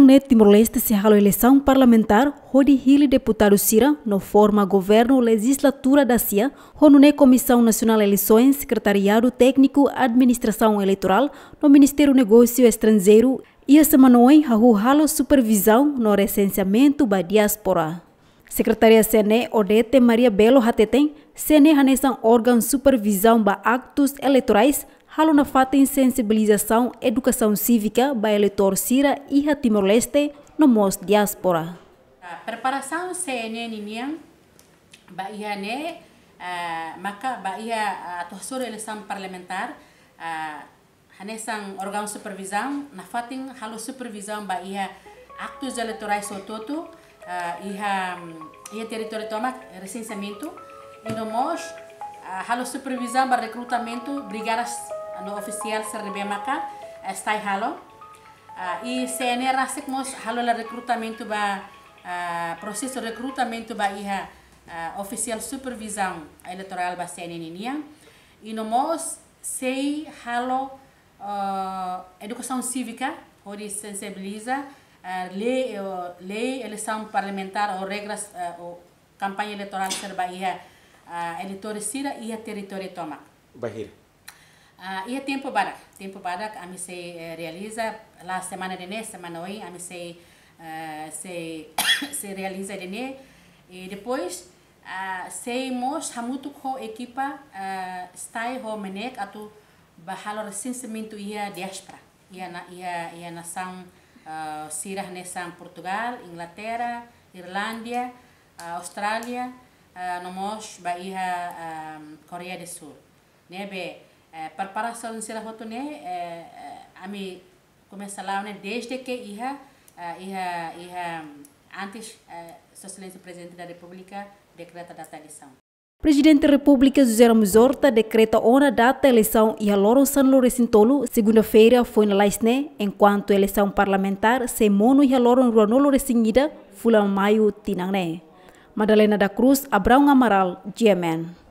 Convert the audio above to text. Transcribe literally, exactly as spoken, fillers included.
Ne'e Timor-Leste sei halo eleisaun parlamentár hodi hili deputadu sira no forma governu lejizlatura dasia, ho nune'e Komisaun Nasionál Eleisoens, Sekretariadu Tékniku Administrasaun Eleitorál no Ministériu Negósiu Estranjeiru iha semana oin hahú halo supervizaun no resenseamentu ba diáspora. Sekretaria C N E Odete Maria Belo hateten, C N E hanesan órgaun supervizaun ba aktus eleitorais, halo nafatin sensibilizasaun edukasaun sívika ba eleitór sira iha Timor-Leste no mós diáspora. Ah, preparasaun C N E ninian ba iha ne'e, ah, maka ba iha, ah, atu hasoru eleisaun parlamentár, ah, hanesan órgaun supervizaun, nafatin halo supervizaun ba iha aktus eleitorais hotu-hotu, ah, iha, iha territóriu tomak, resenseamentu, i no mós, ah, halo supervizaun ba rekrutamentu brigadas no ofisiál sira ne'ebé maka, ah, STAE halo. Ah, i C N E rasik mós halo hela rekrutamentu ba, ah, prosesu rekrutamentu ba iha, ah, ofisiál supervizaun eleitorál ba C N E ninian. I no mós sei halo, ah, edukasaun sívika, hodi sensibiliza, ah, lei, ah, lei eleisaun parlamentár ou regras, ah, ou kampaña eleitorál sira ba iha, ah, eleitór sira iha territóriu tomak. Bainhira? Ah, iha tempu badak, tempu badak ami sei, eh, realiza, la semana ida-ne'e, semana oin, ami sei, eh, sei, sei realiza ida-ne'e. I depois, ah, sei mós hamutuk ho ekipa, ah, STAE ho MNEK atu ba halo resenseamentu iha diáspora. Iha na, iha, iha nasaun, ah, sira hanesan Portugal, Inglaterra, Irlanda, ah, Austrália, ah, no mós ba iha, ah, Koreia do Sul. Ne'ebé, eh, preparasaun sira hotu ne'e, eh, eh, ami komesa la'o ne'e desde ke iha, eh, iha, iha, antes, eh, Sua Exelénsia Prezidente da Repúblika dekreta data eleisaun. Prezidente Repúblika José Ramos Horta dekreta ona data eleisaun iha loron sanulu-resin-tolu, segunda-feira foin lalais ne'e, enkuantu eleisaun parlamentár sei monu iha loron ruanulu-resin-ida, fulan Maiu tinan ne'e. Madalena da Cruz, Abraão Amaral, G M N.